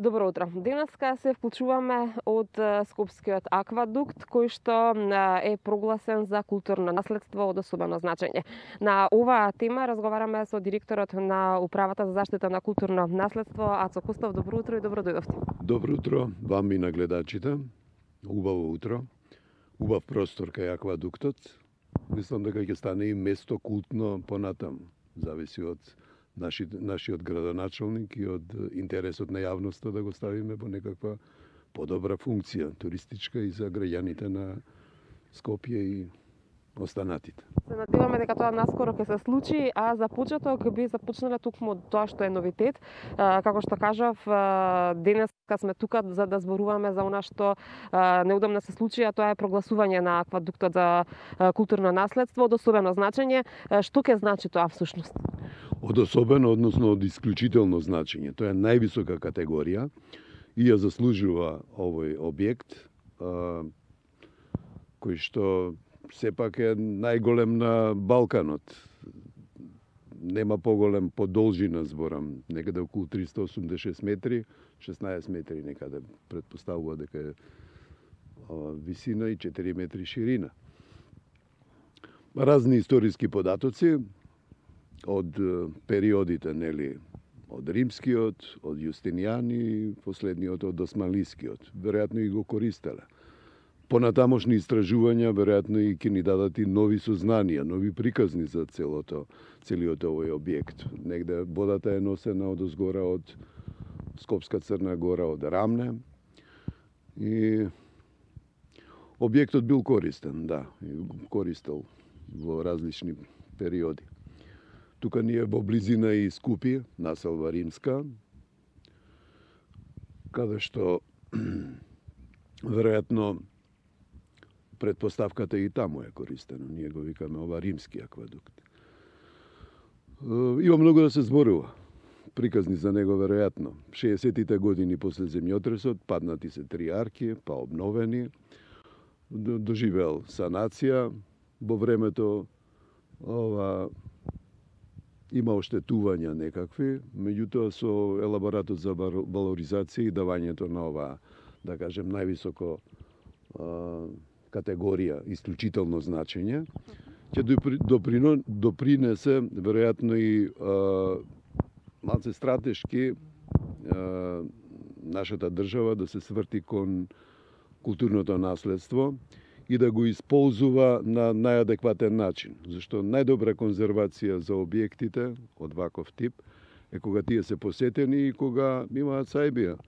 Добро утро. Денеска се вклучуваме од Скопскиот аквадукт, кој што е прогласен за културно наследство од особено значење. На оваа тема разговараме со директорот на Управата за заштита на културно наследство, Ацо Костов. Добро утро и добро дојдовте. Добро утро вам и на гледачите. Убаво утро. Убав простор кај аквадуктот. Мислам дека ќе стане и место култно понатаму. Зависи од нашиот градоначалник и од интересот на јавноста да го ставиме во некаква подобра функција, туристичка и за граѓаните на Скопје и останатите. Се надеваме дека тоа наскоро ќе се случи, а за почеток би започнале токму тоа што е новитет. Како што кажав, денеска сме тука за да зборуваме за она што неудамна се случи, а тоа е прогласување на аквадуктот за културно наследство од особено значење. Што ќе значи тоа всушност? Од особено, односно од исклучително значење. Тоа е највисока категорија и ја заслужува овој објект, кој што сепак е најголем на Балканот. Нема поголем по должина, зборам, некаде околу 386 метри, 16 метри некаде претпоставува дека е висина и 4 метри ширина. Разни историски податоци од периодите, нели, од римскиот, од Јустинијан и последниот од османлискиот. Веројатно и го користеле. Понатамошни истражувања веројатно и ќе ни дадат и нови сознанија, нови приказни за целиот овој објект. Негде водата е носена од озгора од Скопска Црна Гора, од Рамне. И објектот бил користен, да, користел во различни периоди. Тука ни е во близина и Скупје, населба римска, каде што веројатно предпоставката и таму е користено. Ние го викаме ова римски аквадукт. Има многу да се зборува. Приказни за него веројатно. 60-тите години после земјотресот паднати се 3 арки, па обновени. Доживел санација. Во времето има оштетувања некакви, меѓутоа со елаборатот за валоризација и давањето на ова, да кажем, највисоко категорија, исклучително значење, ќе допринесе веројатно и малце стратешки нашата држава да се сврти кон културното наследство и да го исползува на најадекватен начин. Зашто најдобра конзервација за објектите од ваков тип е кога тие се посетени и кога имаат сајбија.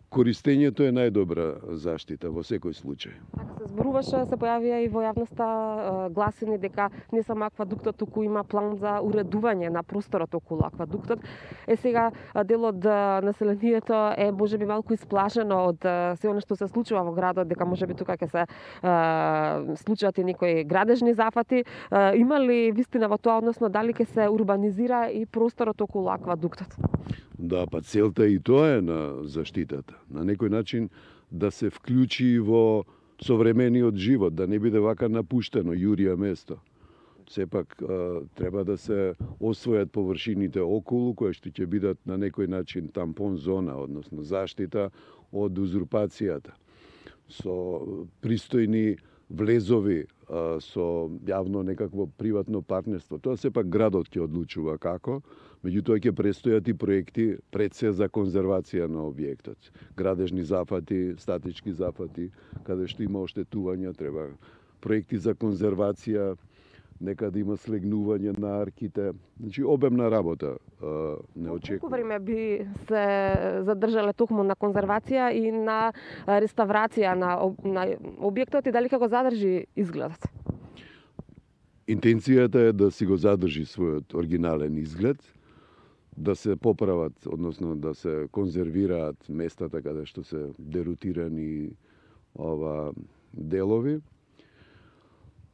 Користењето е најдобра заштита во секој случај. Така се зборуваше, се појавија и во јавноста гласини дека не само аквадуктот, туку има план за уредување на просторот околу аквадуктот. Сега дел од населението е можеби малку исплашено од се она што се случува во градот, дека можеби тука ќе се случат и некои градежни зафати. Има ли вистина во тоа, односно дали ќе се урбанизира и просторот околу аквадуктот? Да, па целта и тоа е на заштитата. На некој начин да се вклучи во современиот живот, да не биде вака напуштено, јурија место. Сепак треба да се освојат површините околу, кои што ќе бидат на некој начин тампон зона, односно заштита од узурпацијата. Со пристојни влезови, со јавно некакво приватно партнерство. Тоа сепак градот ќе одлучува како, меѓутоа ќе престојат и проекти пред се за конзервација на објектот. Градежни зафати, статички зафати, каде што има оштетувања, треба проекти за конзервација, некаде има слегнување на арките. Значи, обемна работа не очекува. Колку време би се задржале токму на конзервација и на реставрација на објектот и дали ќе го задржи изгледот? Интенцијата е да си го задржи својот оригинален изглед, да се поправат, односно да се конзервираат местата каде што се дерутирани делови.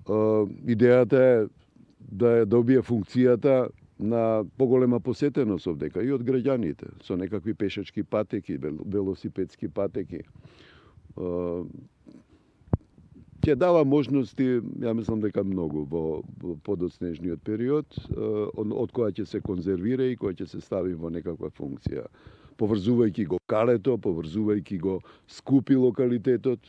Идејата е да ја добие функцијата на поголема посетеност овдека и од граѓаните, со некакви пешачки патеки, велосипедски патеки. Ќе дава можности, ја мислам дека многу во подоцнежниот период, од која ќе се конзервира и која ќе се стави во некаква функција. поврзувајќи го калето, поврзувајќи го скупи локалитетот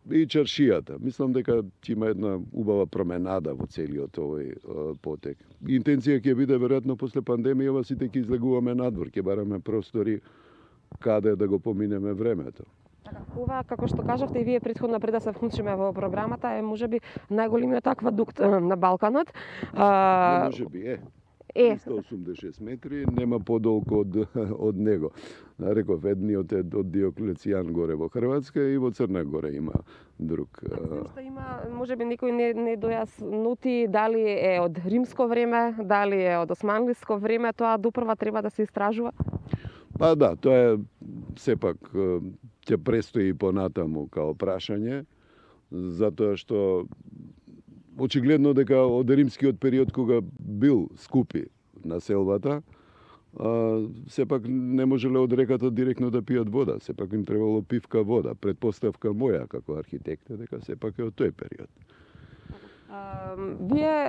и чаршијата. Мислам дека ќе има една убава променада во целиот овој потек. Интенција ќе биде веројатно после пандемијава сите ќе излегуваме надвор, ќе бараме простори каде да го поминеме времето. Ова, како што кажавте и вие претходно пред да се вклучиме во програмата, е можеби најголемиот аквадукт на Балканот. Можеби е. 386 метри, нема подолго од него. Реков, едниот е од Диоклецијан горе во Хрватска и во Црна Гора има друг. Што има, можеби некој не дојаснути дали е од римско време, дали е од османлиско време, тоа допрва треба да се истражува? Па да, тоа е сепак ќе престои понатаму као прашање, затоа што очигледно дека од римскиот период кога бил скупи населбата, сепак не можеле од реката директно да пијат вода, сепак им требало пивка вода. Предпоставка моја како архитект е дека сепак е од тој период. Вие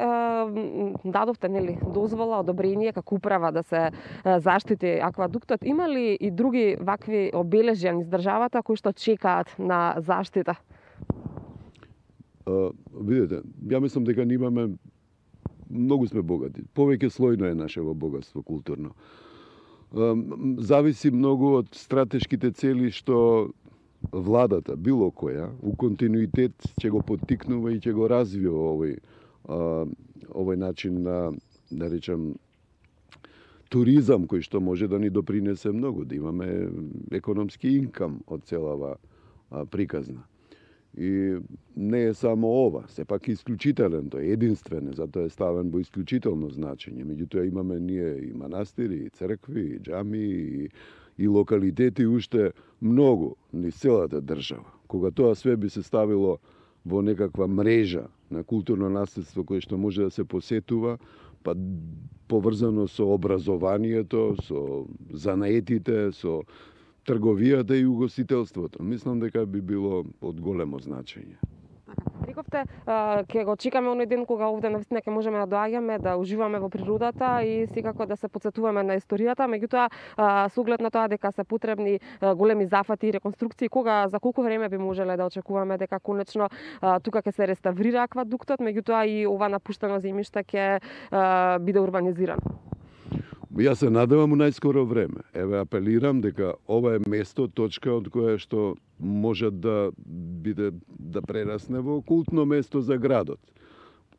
дадовте дозвола, одобрение како управа да се заштити аквадуктот. Има ли и други вакви обележја низ државата кои што чекаат на заштита? Видете, ја мислам дека ние имаме многу сме богати. Повеќе слојно е нашево богатство културно. Зависи многу од стратешките цели што владата, било која, у континуитет ќе го поттикнува и ќе го развива овој начин на, да речам, туризам кој што може да ни допринесе многу, да имаме економски инкам од целава приказна. И не е само ова, сепак исклучителен, тој е единствен, затоа е ставен во исклучително значење. Меѓутоа имаме ние и манастири, и цркви, и џами, и локалитети уште многу низ целата држава. Кога тоа све би се ставило во некаква мрежа на културно наследство кое што може да се посетува, па поврзано со образованието, со занаетите, со трговијата и угостителството. Мислам дека би било од големо значење. Рековте, ќе го чекаме оној ден кога овде навистина ќе можеме да доаѓаме, да уживаме во природата и секако да се потсетуваме на историјата, меѓутоа со оглед на тоа дека се потребни големи зафати и реконструкции, за колку време би можеле да очекуваме дека конечно тука ќе се реставрира аквадуктот, меѓутоа и ова напуштено земјиште ќе биде урбанизирано? Јас се надевам у најскоро време. Еве, апелирам дека ова е место, точка од која што може да биде да прерасне во култно место за градот.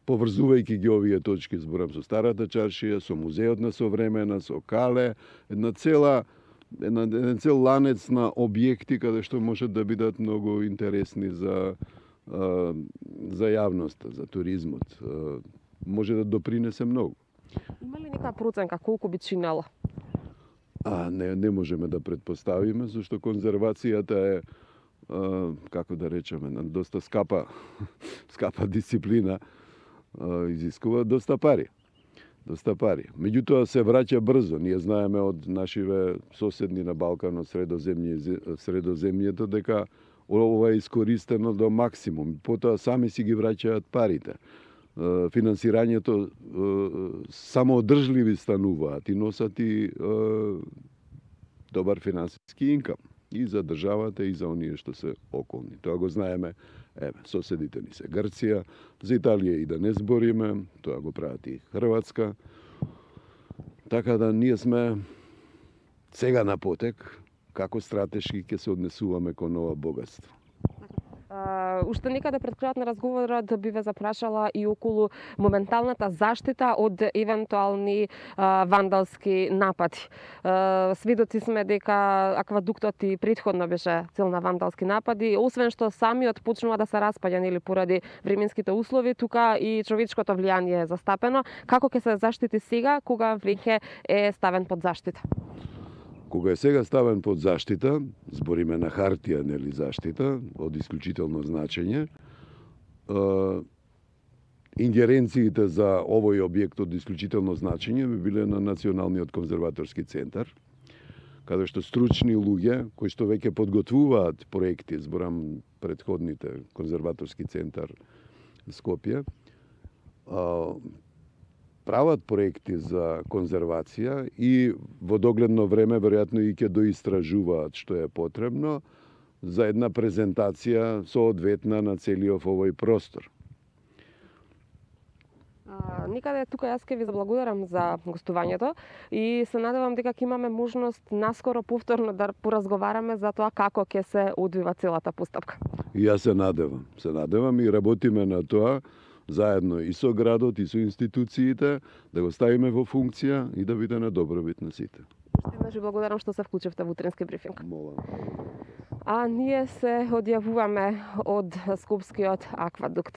Поврзувајќи ги овие точки, зборам со старата чаршија, со музеот на современа, со Кале, еден цел ланец на објекти каде што може да бидат многу интересни за јавноста, за туризмот. Може да допринесе многу. Има ли нека проценка колку би чинело? Не можеме да предпоставиме, зашто конзервацијата е, како да речеме, доста скапа дисциплина, изискува доста пари. Меѓутоа се враќа брзо. Ние знаеме од нашиве соседни на Балканот, Средоземјето, дека ова е искористено до максимум. Потоа сами си ги враќаат парите. Финансирањето самоодржливи стануваат и носат и добар финансиски инкам и за државата и за оние што се околни. Тоа го знаеме, соседите ни се Грција, за Италија и да не збориме, тоа го прават и Хрватска. Така да ние сме сега на потек како стратешки ќе се однесуваме кон ова богатство. Уште некаде пред крајот на разговорот би ве запрашала и околу моменталната заштита од евентуални вандалски напади. Сведоци сме дека аквадуктот и претходно беше цел на вандалски напади, освен што самиот почнува да се распаѓа поради временските услови, тука и човечкото влијание е застапено. Како ќе се заштити сега кога веќе е ставен под заштита? Кога е сега ставен под заштита, збориме на хартија, нели заштита, од исклучително значење, ингеренциите за овој објект од исклучително значење би биле на Националниот конзерваторски центар, каде што стручни луѓе, кои што веќе подготвуваат проекти, зборам претходните конзерваторски центар Скопје, прават проекти за конзервација и во догледно време веројатно и ќе доистражуваат што е потребно за една презентација соодветна на целиот овој простор. Никаде тука јас ќе ви заблагодарам за гостувањето и се надевам дека ќе имаме можност наскоро повторно да поразговараме за тоа како ќе се одвива целата постапка. И јас се надевам и работиме на тоа заедно и со градот и со институциите да го ставиме во функција и да биде на добробит на сите. Уште еднаш ви благодарам што се вклучивте во утренски брифинг. Молам. А ние се одјавуваме од Скопскиот аквадукт.